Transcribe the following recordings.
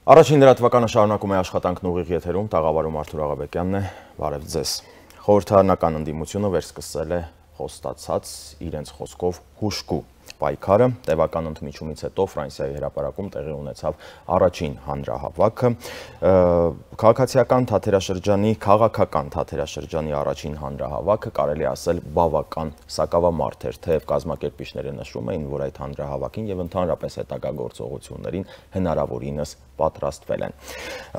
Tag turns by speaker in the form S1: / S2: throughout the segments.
S1: Առաջին լրատվականը շարունակում է աշխատանքն ուղիղ եթերում, տաղավարում Արթուր Աղաբեկյանն է, բարև ձեզ։ Խորհրդարանական ընդդիմությունը վերսկսել է խոստացած իրենց խոսքով հուժկու պայքարը, տևական ընդմիջումից հետո Ֆրանսիայի հրապարակում տեղի ունեցավ առաջին հանրահավաքը, քաղաքական թատերաշրջանի առաջին հանրահավաքը կարելի ասել բավական սակավամարդ էր, թեև կազմակերպիչները նշում էին, որ այդ հանրահավաքին եւ ընդհանրապես հետագա գործողություններին հնարավորինս պատրաստվել են։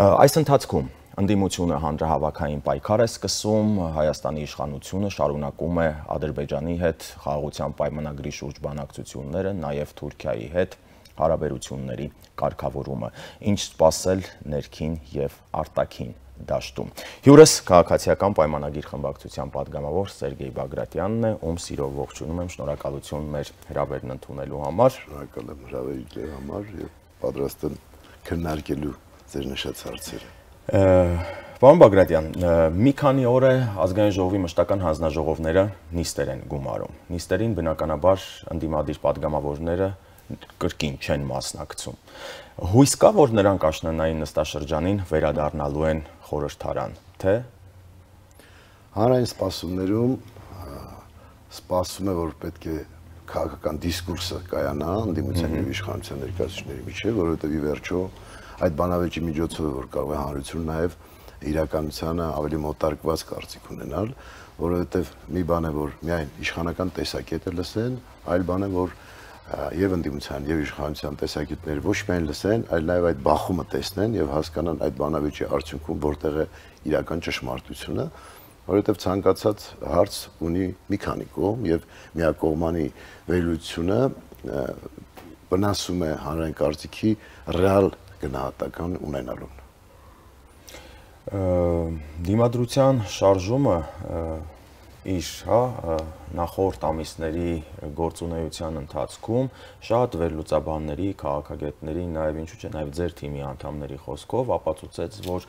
S1: Այս ընթացքում ընդդիմությունը հանրահավաքային պայքար է սկսում, Հայաստանի իշխանությունը շարունակում է Ադրբեջանի հետ խաղաղության պայմանագրի շուրջ բանակցությունները, նաև Թուրքիայի հետ հարաբերությունների կարգավորումը, ինչ սպասել ներքին եւ արտաքին դաշտում։ Հյուրս քաղաքացիական պայմանագիր խմբակցության падգամավոր Սերգեյ Բագրատյանն է, ում սիրով ողջունում եմ, շնորհակալություն մեր հրավերն ընդունելու համար։
S2: Շնորհակալ եմ հրավերի համար եւ պատրաստ եմ քննարկելու ձեր նշած հարցերը։
S1: Պարոն Բագրատյան, մի քանի օր է ազգային ժողովի մշտական հանձնաժողովները նիստեր են գումարում։ Նիստերին բնականաբար ընդդիմադիր падգամավորները կրկին չեն մասնակցում։ Հույս կա, որ նրանք աշնանային նստաշրջանին վերադառնալու են խորհրդարան, թե
S2: հանրային սպասումներում սպասում է, որ պետք է քաղաքական դիսկուրսը կայանա ընդդիմության եւ իշխանության ներկայացուցիչների միջեւ, որովհետեւ ի վերջո այդ բանավեճի միջոցով որ կարող է հանրությունը նաև իրականությանը ավելի մոտարկված կարծիք ունենալ, որովհետև մի բան է որ միայն իշխանական տեսակետը լսեն, այլ բան է որ եւ ընդդիմության եւ իշխանության տեսակետները ոչ միայն լսեն, այլ նաև այդ բախումը տեսնեն եւ հասկանան այդ բանավեճի արդյունքում որտեղ է իրական ճշմարտությունը, որովհետև ցանկացած հարց ունի մի քանի կողմ եւ միակողմանի վերլուծությունը վնասում է հանրային կարծիքի ռեալ գնահատական ունենալուն։
S1: Դիմադրության շարժումը իր նախորդ ամիսների գործունեության ընթացքում շատ վերլուծաբանների, քաղաքագետների, նաև ինչու՞ չէ, նաև ձեր թիմի անդամների խոսքով ապացուցեց, որ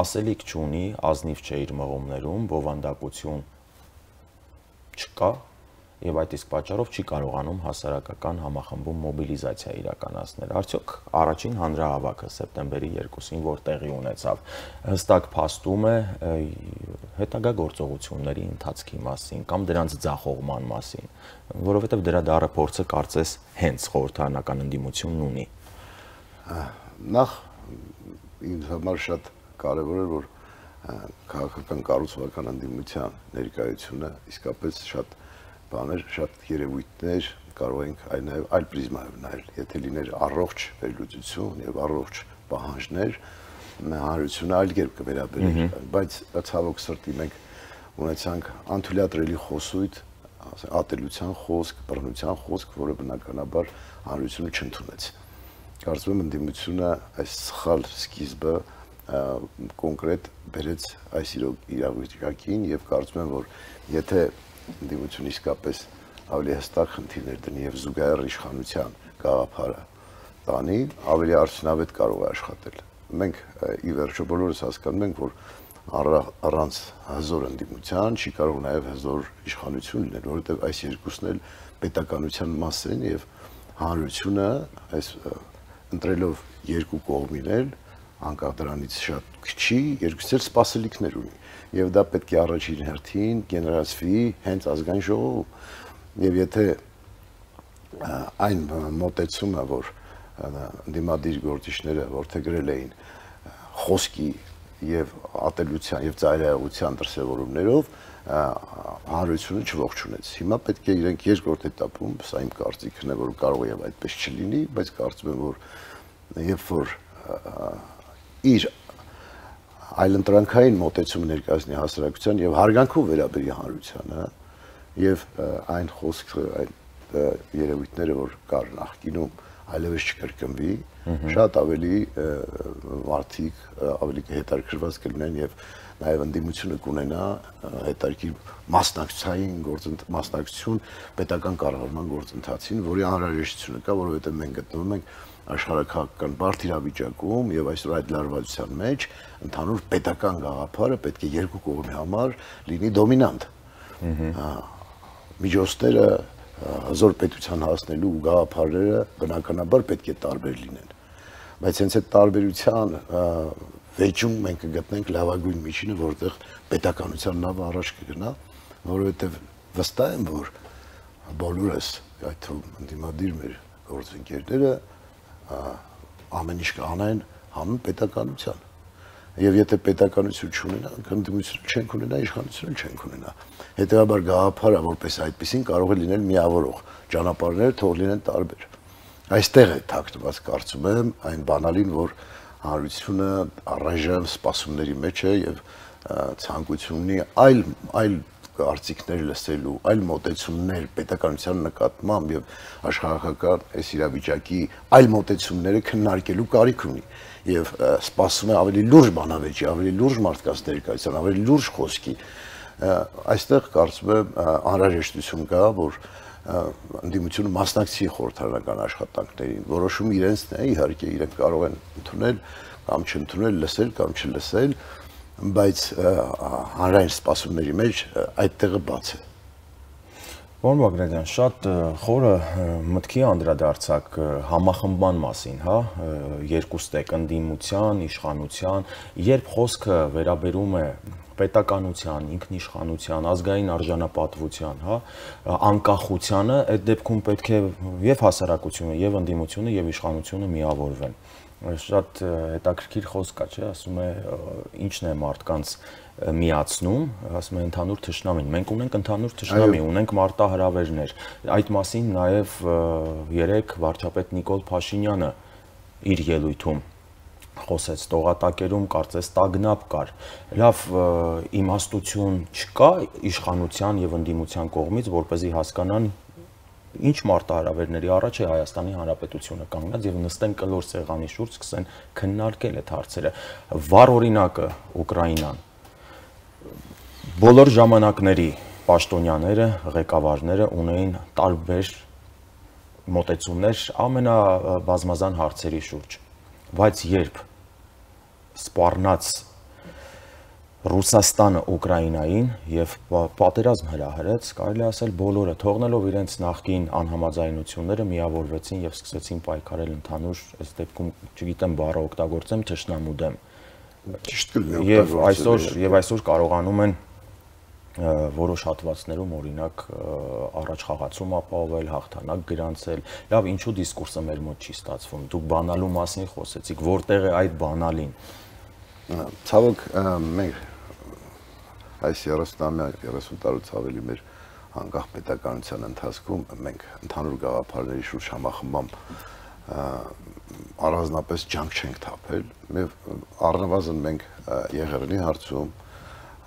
S1: ասելիք չունի, ազնիվ չէ իր մղումներում, բովանդակություն չկա եւ այդ իսկ պատճառով չի կարողանում հասարակական համախմբում մոբիլիզացիա իրականացնել։ Արդյոք առաջին հանրահավաքը սեպտեմբերի 2-ին որ տեղի ունեցավ, հստակ փաստում է հետագա գործողությունների ընթացքի մասին կամ դրանց ձախողման մասին, որովհետեւ դրա դառը փորձը կարծես հենց խորհրդարանական ընդդիմությունն ունի։
S2: Նախ ինձ համար շատ կարեւոր է որ քաղաքական կառուցողական ընդդիմության ներկայությունը իսկապես շատ բաներ, շատ երևույթներ կարող ենք այլ պրիզմայով նայել, եթե լիներ առողջ վերլուծություն եւ առողջ պահանջներ, հանրությունը այլ կերպ կվերաբերեր, բայց ցավոք սրտի մենք ունեցանք անթույլատրելի խոսույթ, ատելության խոսք, բռնության խոսք, որը բնականաբար հանրությունը չընդունեց։ Կարծում եմ ընդդիմությունը այս սխալ սկիզբը կոնկրետ բերեց այս իրավիճակին եւ կարծում եմ որ եթե ընդդիմությունը իսկապես ավելի հստակ խնդիրներ դնի եւ զուգահեռ իշխանության գաղափարը տանի, ավելի արդյունավետ կարող է աշխատել։ Մենք ի վերջո բոլորս հասկանում ենք, որ առանց հզոր ընդդիմության չի կարող նաեւ հզոր իշխանություն լինել, որովհետեւ այս երկուսն էլ պետականության մաս են եւ հանրությունը այս ընտրելով երկու կողմիներ անկախ դրանից շատ քիչ երկուսից էլ սպասելիքներ ունի եւ դա պետք է առաջին հերթին գեներացվի հենց ազգային ժողովում եւ եթե այն մոտեցումը որ ընդդիմադիր գործիչները որդեգրել էին խոսքի եւ ատելության եւ ծայրահեղության դրսեւորումներով հանրությունը չողջունեց հիմա պետք է իրենք երկրորդ этаպում սա իմ կարծիքն է որ կարող է եւ այդպես չլինի բայց կարծում եմ որ երբ որ իր այլընտրանքային մոտեցում ներկայացնի հասարակության եւ հարգանքով վերաբերի հանրությանը եւ այն խոսքը այն երևույթները որ կար նախկինում այլևս չկրկնվի շատ ավելի մարդիկ ավելի հետաքրքրված կլինեն եւ նաեւ ընդդիմությունը կունենա հետաքրքիր մասնակցություն պետական կառավարման գործընթացին որի անհրաժեշտությունը կա որովհետեւ մենք գտնվում ենք աշխարհակաղակական բարդ իրավիճակում եւ այսօր այդ լարվածության մեջ ընդհանուր պետական գաղափարը պետք է երկու կողմի համար լինի դոմինանտ։ Միջոցները հզոր պետության հասնելու գաղափարները բնականաբար պետք է տարբեր լինեն։ բայց հենց այդ տարբերության վեճում մենք կգտնենք լավագույն միջինը, որտեղ պետականության նավը առաջ կգնա, որովհետև վստահ եմ, որ բոլորս, այդ թվում ընդդիմադիր մեր գործընկերները ամեն ինչ կանեն հանուն պետականության։ Եվ եթե պետականություն չունենանք, ընդդիմություն չենք ունենա, իշխանություն չենք ունենա։ Հետևաբար գաղափարը որպես այդպեսին կարող է լինել միավորող, ճանապարհները թող լինեն տարբեր։ Այստեղ է թաքնված, կարծում եմ, այն բանալին, որ հանրությունը առայժմ սպասումների մեջ է եւ ցանկություն ունի այլ կարծիքներ լսելու, այլ մոտեցումներ պետականության նկատմամբ եւ աշխարհական այս իրավիճակի այլ մոտեցումները քննարկելու կարիք ունի եւ սպասում է ավելի լուրջ բանավեճի, ավելի լուրջ մարդկանց ներկայության, ավելի լուրջ խոսքի։ Այստեղ կարծում եմ անհրաժեշտություն կա, որ ընդդիմությունը մասնակցի խորհրդարանական աշխատանքներին, որոշում իրենցն է, իհարկե իրենք կարող են ընդունել կամ չընդունել, լսել կամ չլսել, բայց հանրային սպասումների մեջ այդ տեղը բաց է։
S1: Պարոն Բագրատյան, շատ խորը մտքի անդրադարձակ համախմբման մասին, հա, երկուստեք ընդդիմության, իշխանության, երբ խոսքը վերաբերում է պետականության, ինքնիշխանության, ազգային արժանապատվության, հա, անկախությանը, այդ դեպքում պետք է եւ հասարակությունը, եւ ընդդիմությունը, եւ իշխանությունը միավորվեն։ Շատ հետաքրքիր խոսք կա, չէ, ասում է ինչն է մարդկանց միացնում, ասում է ընդհանուր թշնամին։ Մենք ունենք ընդհանուր թշնամի, ունենք մարտահրավերներ։ Այդ մասին նաև երեք վարչապետ Նիկոլ Փաշինյանը իր ելույթում խոսեց, տողատակերում կարծես տագնապ կար։ Լավ, իմաստություն չկա իշխանության եւ ընդդիմության կողմից, որպեսզի հասկանան ինչ մարտահրավերների առաջ է Հայաստանի Հանրապետությունը կանգնած եւ նստեն կլոր սեղանի շուրջ սկսեն քննարկել այդ հարցերը։ Վառ օրինակը Ուկրաինան։ Բոլոր ժամանակների պաշտոնյաները, ղեկավարները ունեին տարբեր մոտեցումներ ամենաբազմազան հարցերի շուրջ, բայց երբ սպառնաց Ռուսաստանը Ուկրաինային եւ պատերազմ հրահրեց, կարելի ասել բոլորը թողնելով իրենց նախկին անհամաձայնությունները միավորվեցին եւ սկսեցին պայքարել ընդհանուր, այս դեպքում, չգիտեմ, բառը օգտագործեմ, թշնամու դեմ։
S2: Ճիշտ կլինի
S1: Եվ այսօր կարողանում են որոշ հատվածներում օրինակ առաջ խաղացում ապահովել, հաղթանակ գրանցել։ Լավ, ինչու դիսկուրսը մեր մոտ չի ստացվում։ Դուք բանալու մասին խոսեցիք, որտեղ է այդ բանալին։
S2: Ցավոք մենք այս 30 տարուց ավելի մեր անկախ պետականության ընթացքում մենք ընդհանուր գաղափարների շուրջ համախմբամ առանձնապես ջանք չենք թափել, եւ առնվազն մենք Եղեռնի հարցում,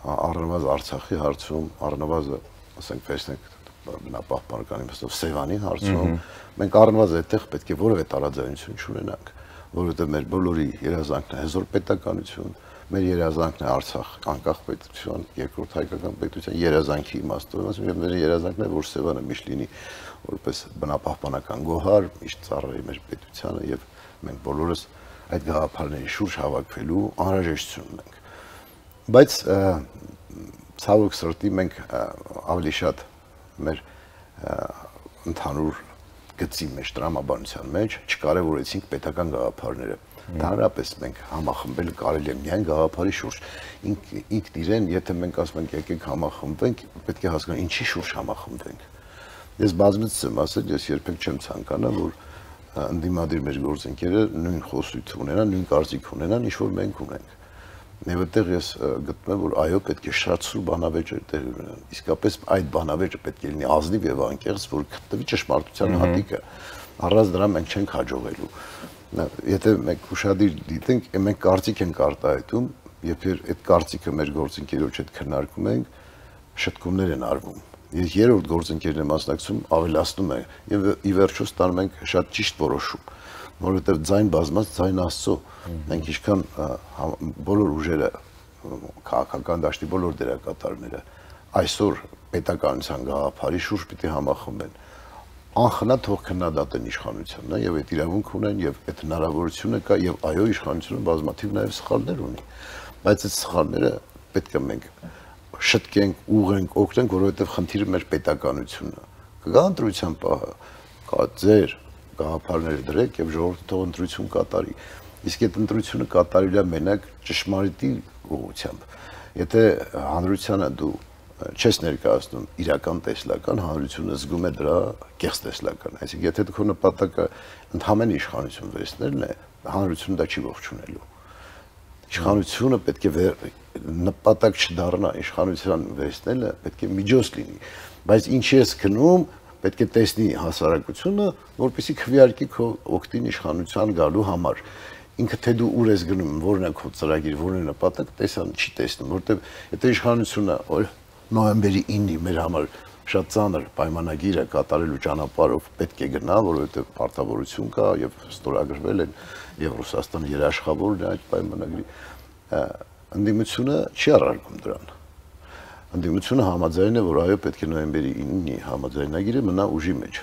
S2: առնվազն Արցախի հարցում, առնվազն, ասենք, վերցնենք բնապահպանական իմաստով Սևանի հարցում, մենք առնվազն այդտեղ պետք է որևէ տարաձայնություն չունենանք, որովհետեւ մեր բոլորի երազանքն է հզոր պետականություն, մեր երազանքն է Արցախ անկախ պետություն, երկրորդ հայկական պետության երազանքի իմաստով, եւ մեր երազանքն է, որ Սևանը միշտ լինի որպես բնապահպանական գոհար, միշտ ծառայի մեր պետությանը, եւ մենք բոլորս այդ գաղափարների շուրջ հավաքվելու անհրաժեշտություն ունենք։ Բայց ցավոք սրտի մենք ավելի շատ մեր ընդհանուր գծի մեջ, տրամաբանության մեջ չկարևորեցինք պետական գաղափարները։ Ընդհանրապես մենք համախմբել կարելի է միայն գաղափարի շուրջ։ Ինքն իրեն, եթե մենք ասում ենք եկեք համախմբվենք, պետք է հասկանալ ինչի շուրջ համախմբվենք։ Ես բազմից եմ ասել, ես երբեք չեմ ցանկանա, որ ընդդիմադիր մեր գործընկերը նույն խոսույթ ունենան, նույն կարծիք ունենան, ինչ որ մենք ունենք։ Եվ այդտեղ ես գտնում եմ, որ այո, պետք է շատ սուր բանավեճեր տեղի ունենան։ Իսկապես այդ բանավեճը պետք է լինի ազնիվ եւ անկեղծ, որ գտնվի ճշմարտության հատիկը։ Առանց դրա մենք չենք հաջողելու։ Եթե մենք ուշադիր դիտենք, մենք կարծիք ենք արտահայտում, երբ այդ կարծիքը մեր գործընկերոջ հետ քննարկում ենք, շտկումներ են արվում։ Ես երրորդ գործընկերն եմ մասնակցում, ավելացնում է եւ ի վերջո ստանում ենք շատ ճիշտ որոշում, որովհետեւ ձայն բազմած ձայն Աստծո։ Մենք ինչքան բոլոր ուժերը, քաղաքական դաշտի բոլոր դերակատարները այսօր պետականության գաղափարի շուրջ պիտի համախմբեն։ Անխնա թող քննադատեն իշխանությունը եւ այդ իրավունք ունեն եւ այդ հնարավորությունը կա եւ այո իշխանությունը բազմաթիվ նաեւ սխալներ ունի, բայց այդ սխալները պետք է մենք շտկենք, ուղենք, օգնենք, որովհետեւ խնդիրը մեր պետականությունն է։ Կգա ընտրության պահը, կա ձեր գաղափարները դրեք եւ ժողովուրդը թող ընտրություն կատարի։ իսկ այդ ընտրությունը կատարել է մենակ ճշմարիտի ուղղությամբ։ Եթե հանրությանը դու չես ներկայացնում իրական տեսլական, հանրությունը զգում է դրա կեղծ տեսլական։ Այսինքն եթե քո նպատակը ընդհանրեն իշխանություն վերցնելն է, հանրությունը դա չի ողջունելու։ Իշխանությունը պետք է նպատակ չդառնա, իշխանության վերցնելը պետք է միջոց լինի, բայց ինչի ես գնում, պետք է տեսնի հասարակությունը, որպեսզի քվեարկի քո օգտին իշխանության գալու համար։ Ինքը թե դու ուր ես գնում, որն է քո ծրագիր, որն է նպատակ, տեսան չի տեսնում, որտեղ եթե իշխանությունը նոյեմբերի 9-ի մեր համար շատ ծանր պայմանագիր է կատարելու ճանապարհով պետք է գնա, որովհետև պարտավորություն կա եւ ստորագրվել են եւ Ռուսաստանը երաշխավորն է այդ պայմանագրի, ընդդիմությունը չի առարկում դրան։ Ընդդիմությունը համաձայն է, որ այո, պետք է նոյեմբերի 9-ի համաձայնագիրը մնա ուժի մեջ։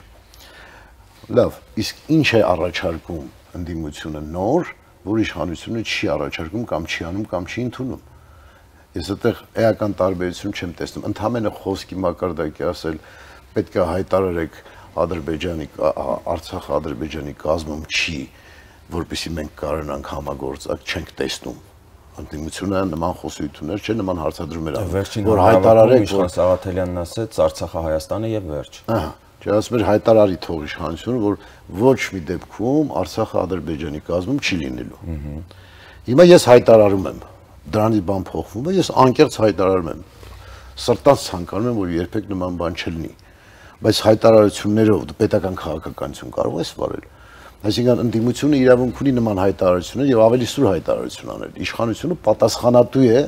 S2: Լավ, իսկ ինչ է առաջարկում ընդդիմությունը նոր, որ իշխանությունը չի առաջարկում կամ չի անում կամ չի ընդունում։ Ես այդտեղ էական տարբերություն չեմ տեսնում։ Ընդհանրապես խոսքի մակարդակի ասել պետք է հայտարարեք Ադրբեջանի Արցախը Ադրբեջանի կազմում չի, որպեսզի մենք կարողանանք համագործակցել, չենք տեսնում։ Ընդդիմությունը նման խոսություններ չէ, նման հարցադրումներ անում, որ հայտարարեք,
S1: որ Սաղաթելյանն ասեց Արցախը Հայաստանը եւ վերջ։
S2: Ահա, չէ, ասում էր հայտարարի թող իշխանությունը, որ ոչ մի դեպքում Արցախը Ադրբեջանի կազմում չի լինելու։ Հիմա ես հայտարարում եմ, դրանից բան փոխվում է, ես անկեղծ հայտարարում եմ։ Սրտանց ցանկանում եմ, որ երբեք նման բան չլինի, բայց հայտարարություններով դու պետական քաղաքականություն կարող ես վարել։ Այսինքն ընդդիմությունը իրավունք ունի նման հայտարարություններ եւ ավելի սուր հայտարարություն անել։ Իշխանությունը պատասխանատու է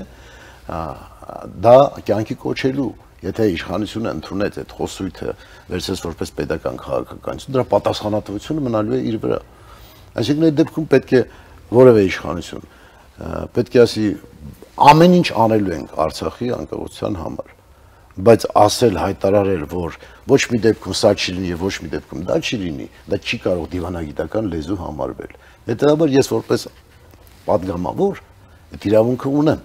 S2: դա կյանքի կոչելու։ Եթե իշխանությունը ընդունեց այդ խոսույթը վերցրեց որպես պետական քաղաքականություն, դրա պատասխանատվությունը մնալու է իր վրա։ Այսինքն այդ դեպքում պետք է որևէ իշխանություն պետք է ասի ամեն ինչ անելու ենք Արցախի անկախության համար, բայց ասել հայտարարել, որ ոչ մի դեպքում սա չի լինի եւ ոչ մի դեպքում դա չի լինի, դա չի կարող դիվանագիտական լեզու համարվել։ Հետեւաբար ես որպես պատգամավոր այդ իրավունքը ունեմ,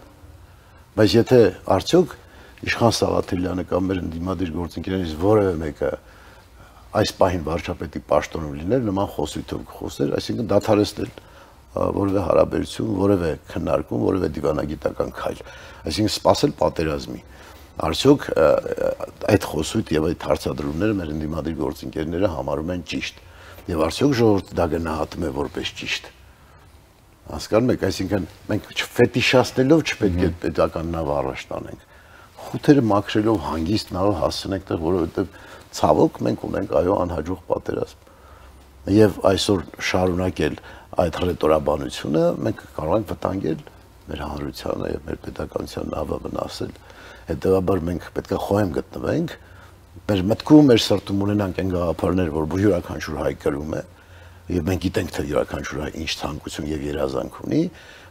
S2: բայց եթե արդյոք Իշխան Սաղաթելյանը կամ մեր ընդդիմադիր գործընկերներից որևէ մեկը այս պահին վարչապետի պաշտոնում լիներ, նման խոսույթով կխոսեր, այսինքն դադարեցնել որևէ հարաբերություն, որևէ քննարկում, որևէ դիվանագիտական քայլ, այսինքն սпасել պատերազմի։ Արդյոք այդ խոսույթը եւ այդ հարցադրումները մեր ընդդիմադիր գործընկերները համարում են ճիշտ, եւ արդյոք ժողովուրդը դա գնահատում է որպես ճիշտ։ Հասկանում եք, այսինքն մենք ֆետիշացնելով չպետք է պետական նավ առաջ տանենք։ Խութերը մաքրելով հանգիստ նավ հասցնենք տեղ, որովհետեւ ցավոք մենք ունենք այո անհաջող պատերազմ։ Եվ այսօր շարունակել այդ ռետորաբանությունը մենք կարող ենք վտանգել մեր հանրությանը եւ մեր պետականության նավը վնասել։ Հետեւաբար մենք պետք է խոհեմ գտնվենք, մեր մտքում, մեր սրտում ունենանք այն գաղափարներ, որ յուրաքանչյուր հայ կրում է, եւ մենք գիտենք, թե յուրաքանչյուր հայ ինչ ցանկություն եւ երազանք ունի,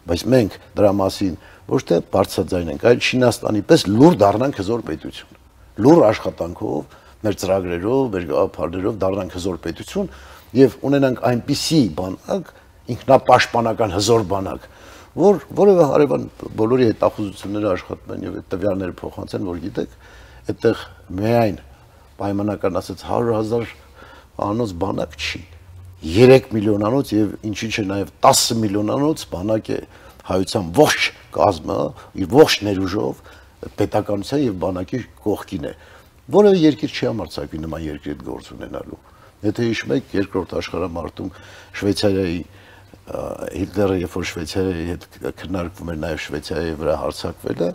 S2: բայց մենք դրա մասին ոչ թե բարձրաձայնենք, այլ Չինաստանի պես լուր դառնանք հզոր պետություն։ Լուր աշխատանքով, մեր ծրագրերով, մեր գաղափարներով դառնանք հզոր պետություն եւ ունենանք այնպիսի բանակ, ինքնապաշտպանական հզոր բանակ, որ որևէ հարևան բոլորի հետախուզությունները աշխատում են եւ այդ տվյալները փոխանցեն, որ գիտեք, այդտեղ միայն պայմանական ասած 100,000 անոց բանակ չի, 3 միլիոնանոց եւ ինչի՞ չէ նաեւ 10 միլիոնանոց բանակ է հայության ողջ կազմը, իր ողջ ներուժով պետականության եւ բանակի կողքին է։ Որևէ երկիր չի համարձակվի նման երկրի հետ գործ ունենալու։ Եթե հիշում եք, երկրորդ աշխարհամարտում Շվեյցարիայի Հիտլերը, երբ որ Շվեյցարիայի հետ քննարկվում էր նաև Շվեյցարիայի վրա հարձակվելը,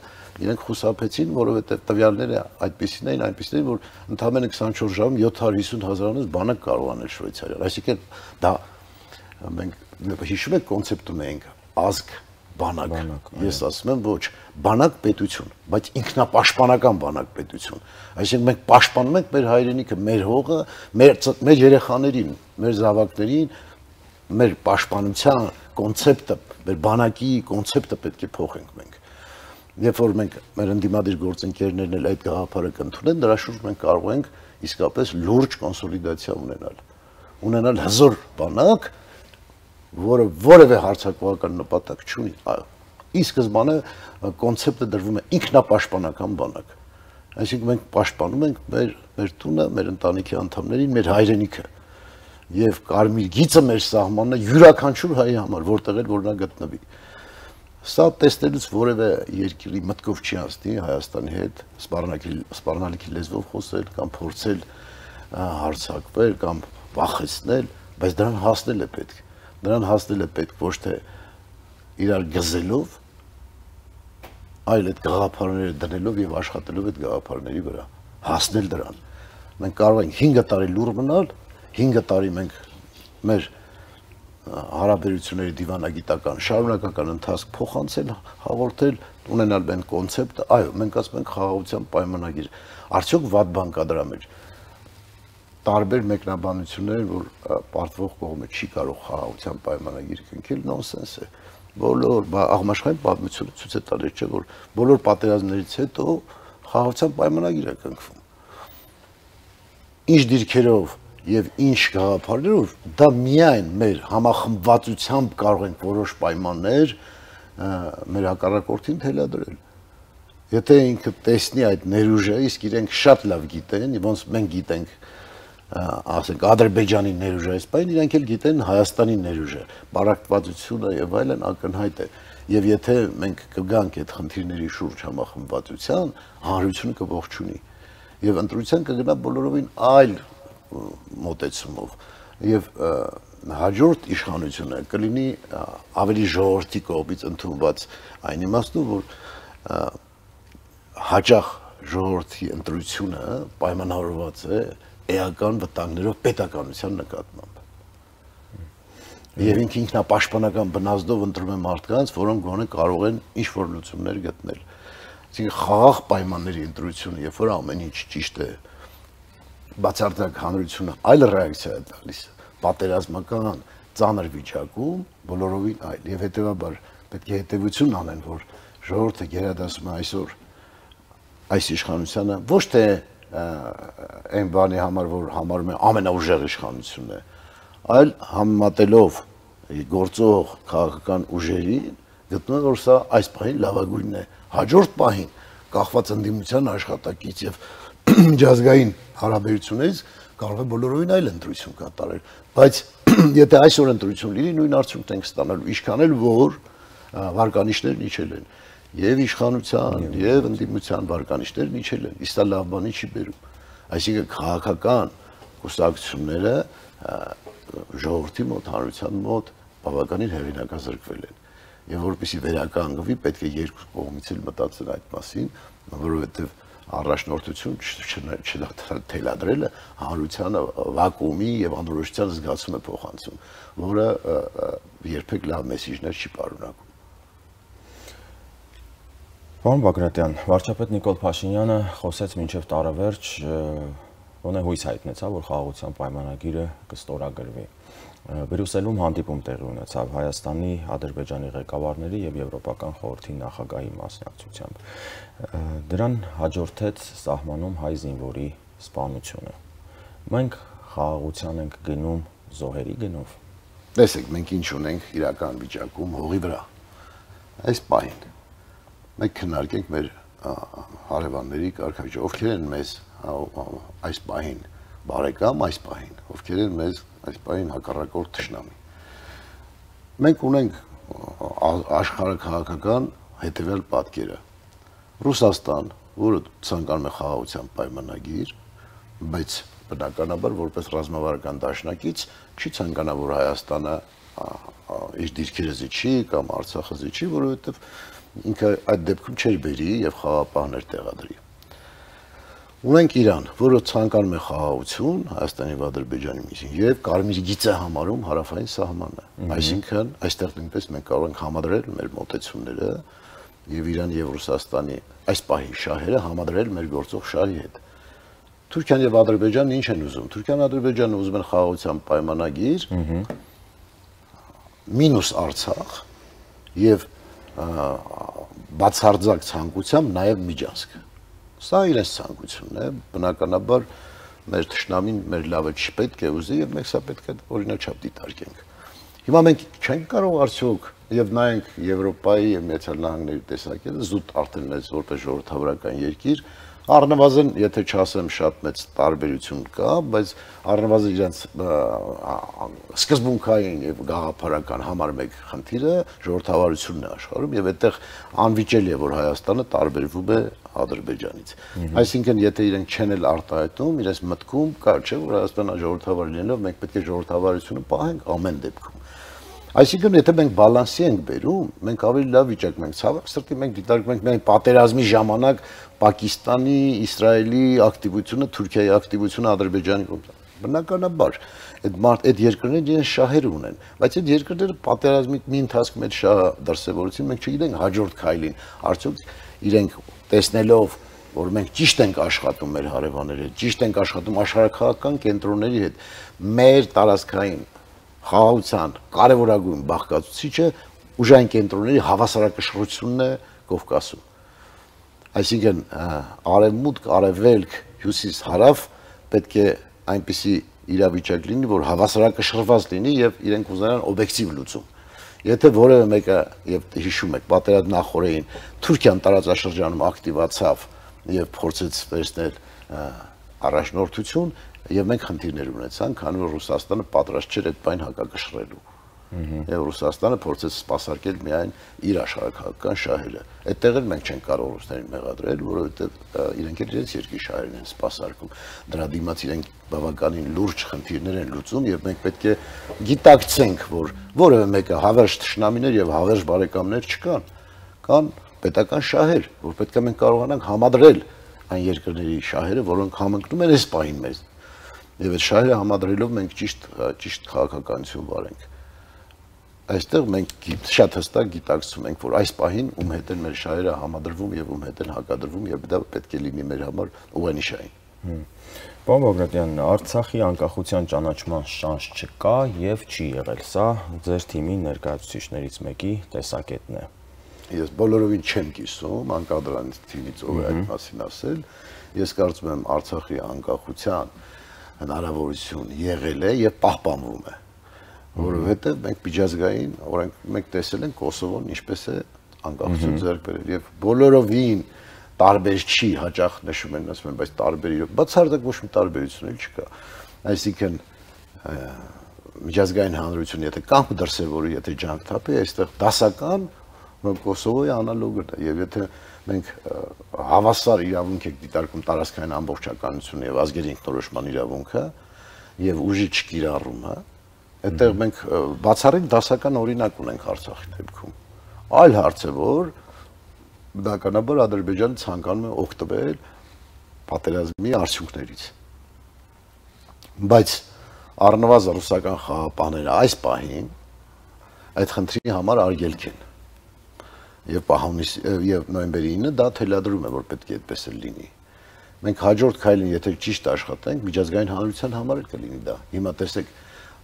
S2: իրենք խուսափեցին, որովհետև տվյալները այդպիսին էին, որ ընդամենը 24 ժամում 750,000-ից բանակ կարող անել Շվեյցարիան։ Այսինքն դա մենք հիշում եք կոնցեպտ ունենք ազգ բանակ։ Ես ասում եմ ոչ, բանակ պետություն, բայց ինքնապաշտպանական բանակ պետություն։ Այսինքն մենք պաշտպանում ենք մեր հայրենիքը, մեր հողը, մեր երեխաներին, մեր զավակներին, մեր պաշտպանության կոնցեպտը, մեր բանակի կոնցեպտը պետք է փոխենք մենք։ Երբ որ մենք մեր ընդդիմադիր գործընկերներն էլ այդ գաղափարը կընդունեն, դրա շուրջ մենք կարող ենք իսկապես լուրջ կոնսոլիդացիա ունենալ հզոր բանակ, որը որևէ հարձակողական նպատակ չունի։ Ի սկզբանե կոնցեպտը դրվում է ինքնապաշտպանական բանակ։ Այսինքն մենք պաշտպանում ենք մեր տունը, մեր ընտանիքի անդամներին, մեր հայրենիքը։ եւ կարմիր գիծը մեր սահմանն է յուրաքանչյուր հայի համար, որտեղ էլ որ նա գտնվի։ Սա տեսնելուց որևէ երկրի մտքով չի անցնի Հայաստանի հետ սպառնալիքի լեզվով խոսել կամ փորձել հարցակվել կամ վախեցնել, բայց դրան հասնել է պետք։ Դրան հասնել է պետք ոչ թե իրար գզելով, այլ այդ գաղափարները դնելով եւ աշխատելով այդ գաղափարների վրա, հասնել դրան։ Մենք կարող ենք 5 տարի լուր մնալ, 5 տարի մենք մեր հարաբերությունների դիվանագիտական շարունակական ընթացք փոխանցել, հաղորդել, ունենալ մենք կոնցեպտը, այո, մենք ասում ենք խաղաղության պայմանագիր։ Արդյոք վատ բան կա դրա մեջ։ Տարբեր մեկնաբանություններ, որ պարտվող կողմը չի կարող խաղաղության պայմանագիր կնքել, նոնսենս է։ Բոլոր աղմաշխարհային պատմությունը ցույց է տալիս, չէ՞ որ բոլոր պատերազմներից հետո խաղաղության պայմանագիր է կնքվում։ Ինչ դիրքերով եւ ինչ գաղափարներով դա միայն մեր համախմբվածությամբ կարող ենք որոշ պայմաններ մեր հակառակորդին թելադրել։ Եթե ինքը տեսնի այդ ներուժը, իսկ իրենք շատ լավ գիտեն, ոնց մենք գիտենք, ասենք Ադրբեջանի ներուժը, այսպես իրենք էլ գիտեն Հայաստանի ներուժը, բարակտվածությունը եւ այլն ակնհայտ է։ Եվ եթե մենք կգանք այդ խնդիրների շուրջ համախմբվածության, հանրությունը կողջունի եւ ընտրության կգնա բոլորովին այլ մոտեցումով եւ հաջորդ իշխանությունը կլինի ավելի ժողովրդի կողմից ընդունված այն իմաստով որ հաջող ժողովրդի ընտրությունը պայմանավորված է էական վտանգներով պետականության նկատմամբ եւ ինքնապաշտպանական բնազդով ընտրում է մարդկանց որոնք գոնե կարող են ինչ որ լուծումներ գտնել այսինքն խաղաղ պայմանների ընտրությունը երբ որ ամեն ինչ ճիշտ է բացարձակ հանրությունը այլ ռեակցիա է տալիս պատերազմական ծանր վիճակում բոլորովին այլ եւ հետեւաբար պետք է հետեւություն անեն որ ժողովուրդը գերադասում է այսօր այս իշխանությունը ոչ թե այն բանի համար որ համարում է ամենաուժեղ իշխանությունն է այլ համեմատելով գործող քաղաքական ուժերին գտնում են որ սա այս պահին լավագույնն է հաջորդ պահին կախված ընդդիմության աշխատակից եւ միջազգային հարաբերություններից կարող է բոլորովին այլ ընտրություն կատարել բայց եթե այսօր ընտրություն լինի նույն արդյունքն ենք ստանալու ինչքան էլ որ վարկանիշներն իջել են եւ իշխանության եւ ընդդիմության վարկանիշներն իջել են իսկ դա լավ բանի չի բերում այսինքն քաղաքական կուսակցությունները ժողովրդի մոտ հանրության մոտ բավականին հեղինակազրկվել են եւ որպեսզի վերականգնվի պետք է երկու կողմից էլ մտածել այդ մասին որովհետեւ առաջնորդություն չթելադրելը հանրությանը վակուումի եւ անորոշության զգացում է փոխանցում, որը երբեք լավ մեսիջներ չի պարունակում։
S1: Պարոն Բագրատյան, վարչապետ Նիկոլ Փաշինյանը խոսեց մինչև տարեվերջ, ոնե հույս հայտնեցավ, որ խաղաղության պայմանագիրը կստորագրվի։ Բրյուսելում հանդիպում տեղի ունեցավ Հայաստանի, Ադրբեջանի ղեկավարների եւ Եվրոպական խորհրդի նախագահի մասնակցությամբ։ Դրան հաջորդեց սահմանում հայ զինվորի սպանությունը։ Մենք խաղաղության ենք գնում զոհերի գնով։
S2: Տեսեք, մենք ինչ ունենք իրական վիճակում հողի վրա։ Այս պահին մենք քննարկենք մեր հարևանների կարգավիճակը, ովքեր են մեզ այս պահին բարեկամ, այս պահին, ովքեր են մեզ այս պահին հակառակորդ թշնամի։ Մենք ունենք աշխարհաքաղաքական հետևյալ պատկերը։ Ռուսաստան, որը ցանկանում է խաղաղության պայմանագիր, բայց բնականաբար որպես ռազմավարական դաշնակից չի ցանկանա, որ Հայաստանը իր դիրքերը զիջի կամ Արցախը զիջի, որովհետև ինքը այդ դեպքում չէր բերի եւ խաղաղապահներ տեղադրի։ Ունենք Իրան, որը ցանկանում է խաղաղություն Հայաստանի եւ Ադրբեջանի միջին եւ կարմիր գիծ է համարում հարավային սահմանը։ Այսինքն այստեղ նույնպես մենք կարող ենք համադրել մեր մոտեցումները եւ Իրանի եւ Ռուսաստանի այս պահի շահերը համադրել մեր գործող շահի հետ։ Թուրքիան եւ Ադրբեջանն ինչ են ուզում։ Թուրքիան Ադրբեջանը ուզում են խաղաղության պայմանագիր մինուս Արցախ եւ բացարձակ ցանկությամբ նաեւ Միջանցք։ Սա իրենց ցանկությունն է, բնականաբար մեր թշնամին մեր լավը չպետք է ուզի եւ մենք սա պետք է օրինաչափ դիտարկենք։ Հիմա մենք չենք կարող արդյոք եւ նայենք Եվրոպայի եւ Միացյալ Նահանգների տեսակետը զուտ արդեն այս որպես ժողովրդավարական երկիր Առնվազն, եթե չասեմ շատ մեծ տարբերություն կա, բայց առնվազն իրենց սկզբունքային եւ գաղափարական համար մեկ խնդիրը ժողովրդավարությունն է աշխարհում եւ այդտեղ անվիճելի է, որ Հայաստանը տարբերվում է Ադրբեջանից։ Այսինքն, եթե իրենք չեն էլ արտահայտում, իրենց մտքում կա, չէ, որ Հայաստանը ժողովրդավար լինելով մենք պետք է ժողովրդավարությունը պահենք ամեն դեպքում։ Այսինքն, եթե մենք բալանսի ենք բերում, մենք ավելի լավ վիճակում ենք։ Ցավոք սրտի մենք դիտարկում ենք միայն պատերազմի ժամանակ Պակիստանի, Իսրայելի ակտիվությունը, Թուրքիայի ակտիվությունը Ադրբեջանի կողմից։ Բնականաբար, այդ երկրները իրենց շահեր ունեն, բայց այդ երկրները պատերազմի մի ընթացքում այդ շահը դրսևորեցին, մենք չգիտենք հաջորդ քայլին, արդյոք իրենք տեսնելով, որ մենք ճիշտ ենք աշխատում մեր հարևանների հետ, ճիշտ ենք աշխատում աշխարհաքաղաքական կենտրոնների հետ, մեր տարածքային խաղաղության կարևորագույն բաղկացուցիչը ուժային կենտրոնների հավասարակշռությունն է Կովկասում։ Այսինքն արևմուտք, արևելք, հյուսիս, հարավ պետք է այնպիսի իրավիճակ լինի, որ հավասարակշռված լինի եւ իրենք ուզենան օբյեկտիվ լուծում։ Եթե որևէ մեկը եւ հիշում եք, պատերազմի նախորդին Թուրքիան տարածաշրջանում ակտիվացավ եւ փորձեց վերցնել առաջնորդություն, եւ մենք խնդիրներ ունեցանք, քանի որ Ռուսաստանը պատրաստ չէր այդ բան հակակշռելու։ Եվ Ռուսաստանը փորձեց սպասարկել միայն իր աշխարհաքաղաքական շահերը։ Այդտեղ էլ մենք չենք կարող ռուսներին մեղադրել, որովհետեւ իրենք էլ իրենց երկրի շահերն են սպասարկում։ Դրա դիմաց իրենք բավականին լուրջ խնդիրներ են լուծում եւ մենք պետք է գիտակցենք, որ որևէ մեկը հավերժ թշնամիներ եւ հավերժ բարեկամներ չկան։ Կան պետական շահեր, որ պետք է մենք կարողանանք համադրել այն երկրների շահերը, որոնք համընկնում են այս պահին մեզ։ Եվ այդ շահերը համադրելով մենք ճիշտ քաղաքականություն վարենք։ Այստեղ մենք շատ հստակ գիտակցում ենք, որ այս պահին ում հետ են մեր շահերը համադրվում եւ ում հետ են հակադրվում եւ դա պետք է լինի մեր համար ուղենիշային։
S1: Պարոն Բագրատյան, Արցախի անկախության ճանաչման շանս չկա եւ չի եղել։ Սա ձեր թիմի ներկայացուցիչներից մեկի տեսակետն է։
S2: Ես բոլորովին չեմ կիսում, անկախ դրանից թիմից ով է այդ մասին ասել։ Ես կարծում եմ Արցախի անկախության հնարավորություն եղել է եւ պահպանվում է, որովհետեւ մենք միջազգային մենք տեսել ենք Կոսովոն ինչպես է անկախություն ձեռք բերել եւ բոլորովին տարբեր չի, հաճախ նշում են, ասում են, բայց տարբեր իրոք, բացարձակ ոչ մի տարբերություն էլ չկա։ Այսինքն միջազգային հանրությունը եթե կամք դրսևորի, եթե ջանք թափի, այստեղ դասական Կոսովոյի անալոգն է եւ եթե մենք հավասար իրավունք եք դիտարկում տարածքային ամբողջականությունը եւ ազգերի ինքնորոշման իրավունքը եւ ուժի չկիրառումը, այդտեղ մենք բացառիկ դասական օրինակ ունենք Արցախի դեպքում։ Այլ հարց է, որ բնականաբար Ադրբեջանը ցանկանում է օգտվել պատերազմի արդյունքներից։ Բայց առնվազն ռուսական խաղապահները այս պահին այդ խնդրի համար արգելք են։ Եվ նոյեմբերի 9-ը դա թելադրում է, որ պետք է այդպես էլ լինի։ Մենք հաջորդ քայլին, եթե ճիշտ աշխատենք, միջազգային հանրության համար էլ կլինի դա։ Հիմա տեսեք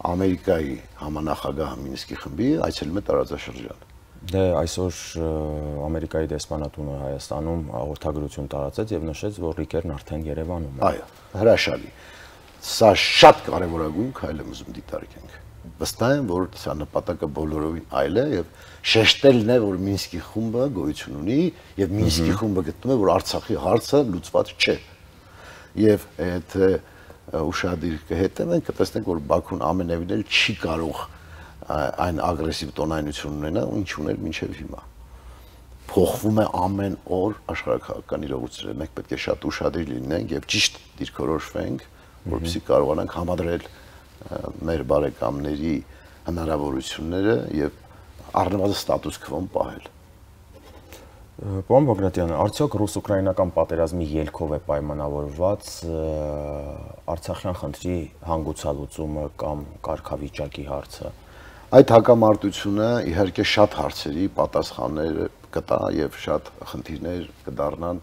S2: Ամերիկայի համանախագահ Մինսկի խմբի այցելում է տարածաշրջան։
S1: Դե այսօր Ամերիկայի դեսպանատունը Հայաստանում հաղորդագրություն տարածեց եւ նշեց, որ Ռիկերն արդեն Երևանում է։
S2: Այո, հրաշալի։ Սա շատ կարևորագույն քայլ է ուզում դիտարկենք։ Վստահ եմ, որ սա նպատակը բոլորովին այլ է եւ շեշտելն է, որ Մինսկի խումբը գոյություն ունի եւ Մինսկի խումբը գտնում է, որ Արցախի հարցը լուծված չէ։ Եվ այդ ուշադիր կհետևենք, կտեսնենք, որ Բաքուն ամենևին էլ չի կարող այն ագրեսիվ տոնայնություն ունենա, ինչ ուներ մինչև հիմա։ Փոխվում է ամեն օր աշխարհաքաղաքական իրողությունները։ Մենք պետք է շատ ուշադիր լինենք եւ ճիշտ դիրքորոշվենք, որպեսզի կարողանանք համադրել մեր բարեկամների հնարավորությունները եւ առնվազն ստատուս քվոն պահել։
S1: Պարոն Բագրատյան, արդյոք ռուս-ուկրաինական պատերազմի ելքով է պայմանավորված Արցախյան խնդրի հանգուցալուծումը կամ կարգավիճակի հարցը։
S2: Այդ հակամարտությունը իհարկե շատ հարցերի պատասխաններ կտա եւ շատ խնդիրներ կդառնան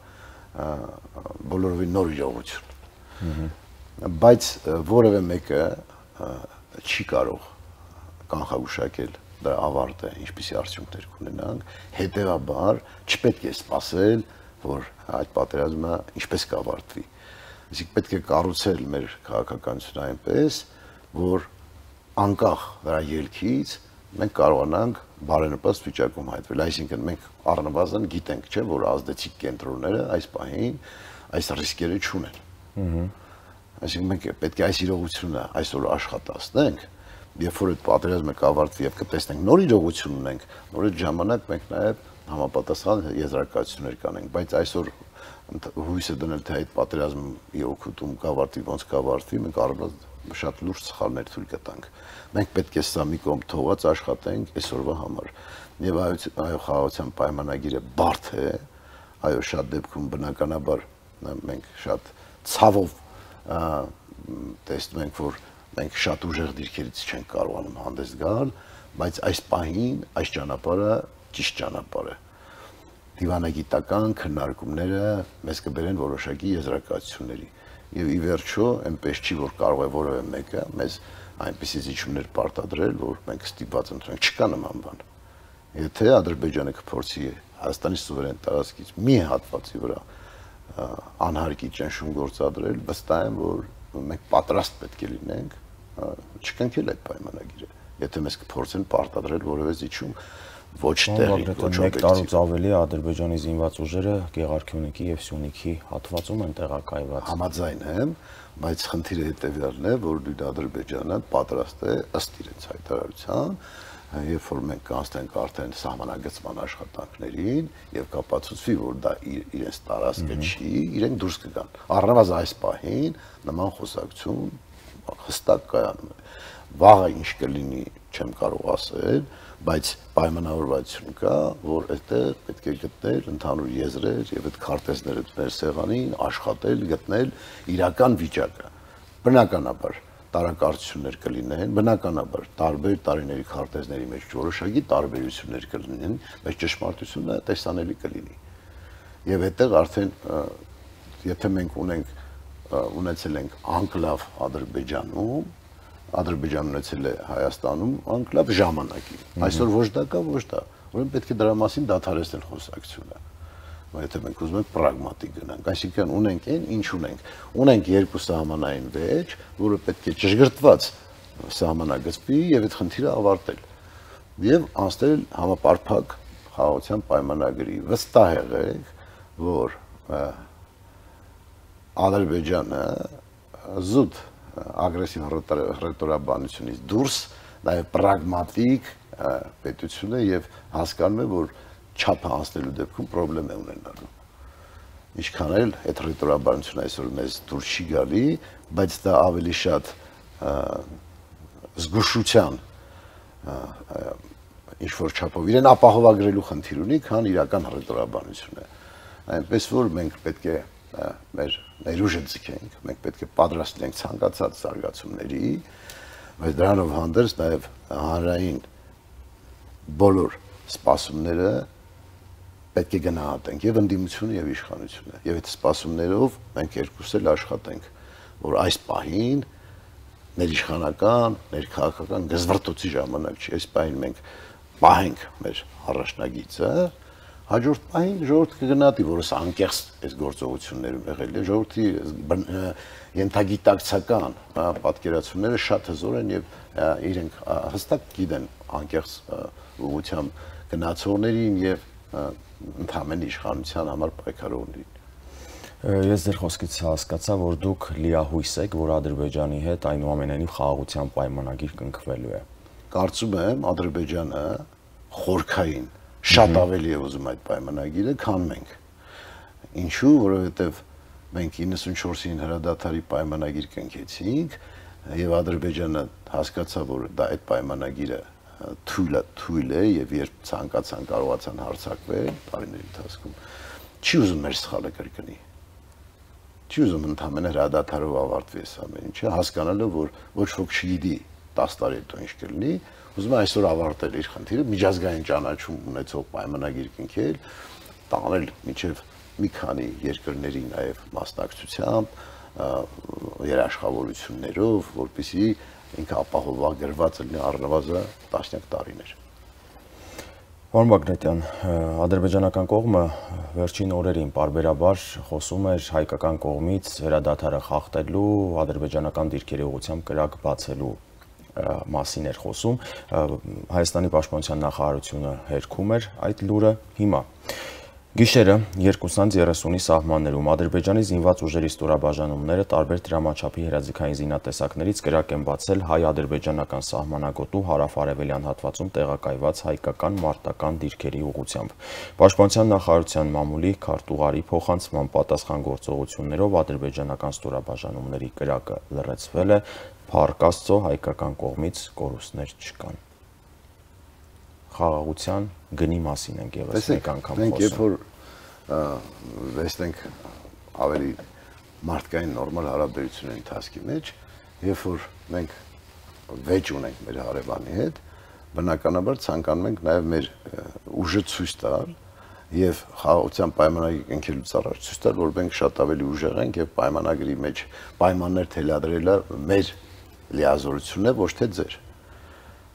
S2: բոլորովին նոր իրողություն։ Բայց որևէ մեկը չի կարող կանխագուշակել դրա ավարտը, ինչպիսի արդյունքներ կունենանք, հետեւաբար չպետք է սպասել, որ այդ պատերազմը ինչպես կավարտվի։ Այսինքն պետք է կառուցել մեր քաղաքականությունը այնպես, որ անկախ դրա ելքից մենք կարողանանք բարենպաստ վիճակում հայտնվել։ Այսինքն մենք առնվազն գիտենք, չէ, որ ազդեցիկ կենտրոնները այս պահին այս ռիսկերը չունեն։ Այսինքն մենք պետք է այս իրողությունը այսօր աշխատացնենք, երբ որ այդ պատերազմը կավարտվի եւ կտեսնենք նոր իրողություն ունենք, նոր այդ ժամանակ մենք նաեւ համապատասխան եզրակացություններ կանենք, բայց այսօր հույսը դնել թե այդ պատերազմի օգուտում կավարտվի, ոնց կավարտվի, մենք առանց շատ լուրջ սխալներ թույլ կտանք։ Մենք պետք է սա մի կողմ թողած աշխատենք այսօրվա համար։ Եվ այո, խաղաղության պայմանագիրը բարդ է, այո, շատ դեպքում բնականաբար մենք շատ ցավով տեսնում ենք, որ մենք շատ ուժեղ դիրքերից չենք կարողանում հանդես գալ, բայց այս պահին այս ճանապարհը ճիշտ ճանապարհ է։ Դիվանագիտական քննարկումները մեզ կբերեն որոշակի եզրակացությունների։ Եվ ի վերջո, այնպես չի, որ կարող է որևէ մեկը մեզ այնպիսի զիջումներ պարտադրել, որ մենք ստիպված ընտրենք, չկա նման բան։ Եթե Ադրբեջանը կփորձի Հայաստանի սուվերեն տարածքից մի հատվածի վրա անհարկի ճնշում գործադրել, վստահ եմ, որ մենք պատրաստ պետք է լինենք չկնքել այդ պայմանագիրը, եթե մեզ կփորձեն պարտադրել որևէ զիջում ոչ տեղի, ոչ
S1: մեկ տարուց ավելի Ադրբեջանի զինված ուժերը Գեղարքյունիքի եւ Սյունիքի հատվածում են տեղակայված։
S2: Համաձայն եմ, բայց խնդիրը հետեւյալն է, որ Ադրբեջանը պատրաստ է ըստ իրենց հայտարարության, երբ որ մենք կանցնենք արդեն սահմանագծման աշխատանքներին եւ կապացուցվի, որ դա իրենց տարածքը չի, իրենք դուրս կգան։ Առնվազն այս պահին նման խոսակցություն հստակ կայանում է։ Վաղը ինչ կլինի, չեմ կարող ասել, բայց պայմանավորվածություն կա, որ այդտեղ պետք է գտնել ընդհանուր եզրեր եւ այդ քարտեզները դնել սեղանին, աշխատել, գտնել իրական վիճակը։ Բնականաբար տարակարծություններ կլինեն, բնականաբար տարբեր տարիների քարտեզների մեջ որոշակի տարբերություններ կլինեն, բայց ճշմարտությունը տեսանելի կլինի։ Եվ այդտեղ արդեն եթե մենք ունեցել ենք անկլավ Ադրբեջանում, Ադրբեջանն ունեցել է Հայաստանում անկլավ ժամանակի։ Այսօր ոչ դա կա, ոչ դա։ Ուրեմն պետք է դրա մասին դադարեցնել խոսակցությունը։ Եթե մենք ուզում ենք պրագմատիկ գնանք, այսինքն ունենք այն, ինչ ունենք։ Ունենք երկու սահմանային վեճ, որը պետք է ճշգրտված սահմանագծվի եւ այդ խնդիրը ավարտել։ Եվ անցնել համապարփակ խաղաղության պայմանագրի։ Վստահ եղեք, որ Ադրբեջանը զուտ ագրեսիվ հռետորաբանությունից դուրս նաև պրագմատիկ պետություն է եւ հասկանում է, որ չափը անցնելու դեպքում խնդրեմ է ունենալու։ Ինչքան էլ այդ հռետորաբանությունը այսօր մեզ դուրս չի գալի, բայց դա ավելի շատ զգուշության ինչ որ չափով իրեն ապահովագրելու խնդիր ունի, քան իրական հռետորաբանություն է։ Այնպես որ մենք պետք է մեր ներուժը ձգենք, մենք պետք է պատրաստ լինենք ցանկացած զարգացումների, բայց դրանով հանդերձ նաև հանրային բոլոր սպասումները պետք է գնահատենք եւ ընդդիմությունը եւ իշխանությունը։ Եվ այդ սպասումներով մենք երկուսս էլ աշխատենք, որ այս պահին ներիշխանական, ներքաղաքական գզվռտոցի ժամանակ չի, այս պահին մենք պահենք մեր առաջնագիծը, հաջորդ պահին ժողովուրդը կգնահատի, որ այս անկեղծ այս գործողություններում եղել է, ժողովրդի ենթագիտակցական պատկերացումները շատ հզոր են եւ իրենք հստակ գիտեն անկեղծ ուղղությամբ գնացողներին եւ ընդհանրեն իշխանության համար պայքարողներին։
S1: Ես ձեր խոսքից հասկացա, որ դուք լիահույս եք, որ Ադրբեջանի հետ այնուամենայնիվ խաղաղության պայմանագիր կնքվելու է։
S2: Կարծում եմ Ադրբեջանը խորքային շատ ավելի է ուզում այդ պայմանագիրը, քան մենք։ Ինչու, որովհետև մենք 94-ին հրադադարի պայմանագիր կնքեցինք եւ Ադրբեջանը հասկացավ, որ դա այդ պայմանագիրը թույլ է եւ երբ ցանկացան կարողացան հարձակվել տարիների ընթացքում, չի ուզում մեր սխալը կրկնի։ Չի ուզում ընդհանրապես հրադադարով ավարտվի այս ամեն ինչը, հասկանալով, որ ոչ ոք չգիտի 10 տարի հետո ինչ կլինի, ուզում է այսօր ավարտել իր խնդիրը, միջազգային ճանաչում ունեցող պայմանագիր կնքել, տանել մինչև մի քանի երկրների նաև մասնակցությամբ, երաշխավորություններով, որպեսզի ինքը ապահովագրված լինի առնվազն տասնյակ տարիներ։
S1: Պարոն Բագրատյան, ադրբեջանական կողմը վերջին օրերին պարբերաբար խոսում էր հայկական կողմից հրադադարը խախտելու, ադրբեջանական դիրքերի ուղղությամբ կրակ բացելու մասին էր խոսում, Հայաստանի պաշտպանության նախարարությունը հերքում էր այդ լուրը հիմա։ Գիշերը 2:30-ի սահմաններում Ադրբեջանի զինված ուժերի ստորաբաժանումները տարբեր դրամաչափի հրաձգային զինատեսակներից կրակ են բացել հայ-ադրբեջանական սահմանագոտու հարավ-արևելյան հատվածում տեղակայված հայկական մարտական դիրքերի ուղղությամբ։ Պաշտպանության նախարարության մամուլի քարտուղարի փոխանցման պատասխան գործողություններով ադրբեջանական ստորաբաժանումների կրակը լռեցվել է, փառք Աստծո, հայկական կողմից կորուստներ չկան։ Խաղաղության գնի մասին ենք ևս մեկ անգամ
S2: խոսում։ Մենք երբ որ վստենք ավելի մարդկային նորմալ հարաբերությունների ընթացքի մեջ, երբ որ մենք վեճ ունենք մեր հարևանի հետ, բնականաբար ցանկանում ենք նաև մեր ուժը ցույց տալ եւ խաղաղության պայմանագրի կնքելուց առաջ ցույց տալ, որ մենք շատ ավելի ուժեղ ենք եւ պայմանագրի մեջ պայմաններ թելադրելը մեր լիազորությունն է, ոչ թե ձեր։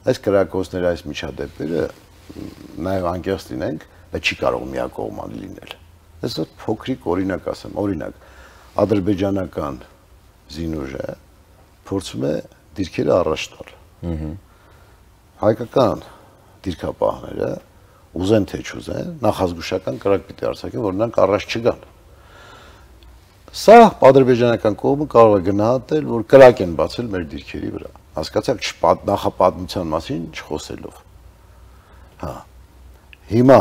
S2: Այս կրակոցների այս միջադեպերը նաև անկեղծ լինենք, բայց չի կարող միակողմանի լինել։ Ես փոքրիկ օրինակ ասեմ, օրինակ ադրբեջանական զինուժը փորձում է դիրքերը առաջ տալ։ Հայկական դիրքապահները ուզեն թե չուզեն, նախազգուշական կրակ պիտի արձակեն, որ նրանք առաջ չգան։ Սա ադրբեջանական կողմը կարող է գնահատել, որ կրակ են բացել մեր դիրքերի վրա։ Հասկացաք, նախապատմության մասին չխոսելով։ Հա։ Հիմա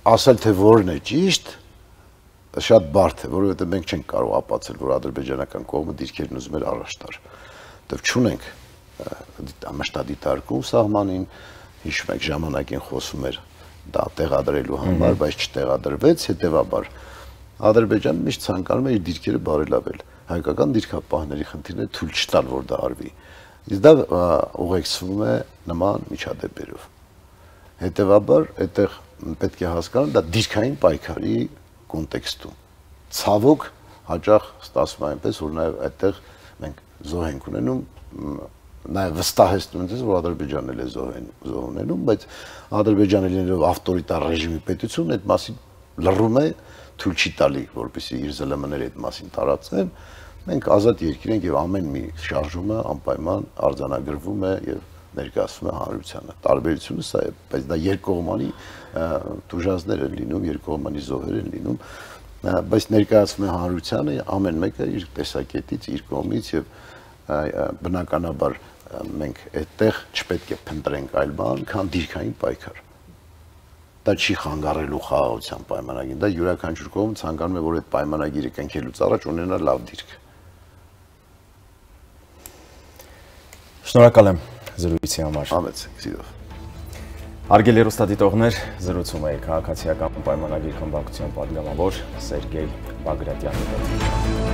S2: ասել թե որն է ճիշտ, շատ բարդ է, որովհետև մենք չենք կարող ապացել, որ ադրբեջանական կողմը դիրքերն ուզում էր առաջ տար։ Դեռ չունենք մշտադիտարկում սահմանին, հիշում եք ժամանակին խոսում էր դա տեղադրելու համար, բայց չտեղադրվեց, հետևաբար Ադրբեջանը միշտ ցանկանում է իր դիրքերը բարելավել։ Հայկական դիրքապահների խնդիրն է թույլ չտալ, որ դա արվի։ Իսկ դա ուղեկցվում է նման միջադեպերով։ Հետևաբար, այդտեղ պետք է հասկանալ դա դիրքային պայքարի կոնտեքստում։ Ցավոք հաճախ ստացվում է այնպես, որ նաև այդտեղ մենք զոհ ենք ունենում, նաև վստահեցնում ենք, որ Ադրբեջանն էլ է զոհ ունենում, բայց Ադրբեջանը լինելով ավտորիտար ռեժիմի պետություն, այդ մասին լռում է, թույլ չի տալի, որպեսզի իր ԶԼՄ-ները այդ մասին տարածեն, մենք ազատ երկիր ենք եւ ամեն մի շարժումը անպայման արձանագրվում է եւ ներկայացվում է հանրությանը։ Տարբերությունը սա է, բայց դա երկկողմանի տուժանքներ են լինում, երկկողմանի զոհեր են լինում, բայց ներկայացվում է հանրությանը ամեն մեկը իր տեսակետից, իր կողմից եւ բնականաբար մենք այդտեղ չպետք է փնտրենք այլ բան, քան դիրքային պայքար։ Դա չի խանգարելու խաղաղության պայմանագիրը, դա յուրաքանչյուր կողմ ցանկանում է, որ այդ պայմանագիրը կնքելուց առաջ ունենա լավ դիրք։
S1: Շնորհակալ եմ զրույցի համար։
S2: Համեցեք, սիրով։
S1: Հարգելի հեռուստադիտողներ, զրուցում էի քաղաքացիական պայմանագիր խմբակցության պատգամավոր Սերգեյ Բագրատյանի հետ։